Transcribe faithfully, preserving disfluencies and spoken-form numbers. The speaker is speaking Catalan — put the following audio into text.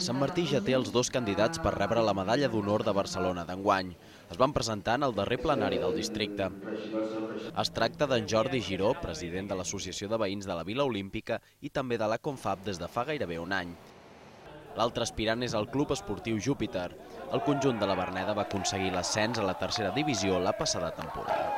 Sant Martí ja té els dos candidats per rebre la medalla d'honor de Barcelona d'enguany. Es van presentar en el darrer plenari del districte. Es tracta d'en Jordi Giró, president de l'Associació de Veïns de la Vila Olímpica i també de la Confab des de fa gairebé un any. L'altre aspirant és el Club Esportiu Júpiter. El conjunt de la Verneda va aconseguir l'ascens a la tercera divisió la passada temporada.